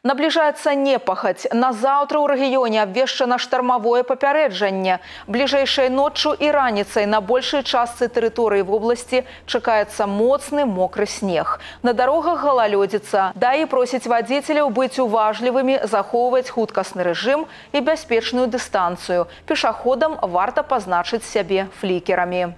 Наближаецца непахаць. Назаўтра ў рэгіёне абвешчана штармавое папярэджанне. Бліжэйшай ноччу і раніцай на большай частцы тэрыторыі вобласці чакаецца моцны мокры снег. На дарогах галалёдзіца. ДАІ просіць вадзіцеляў быць уважлівымі, захоўваць хуткасны рэжым і бяспечную дыстанцыю. Пешаходам варта пазначыць сябе флікерамі.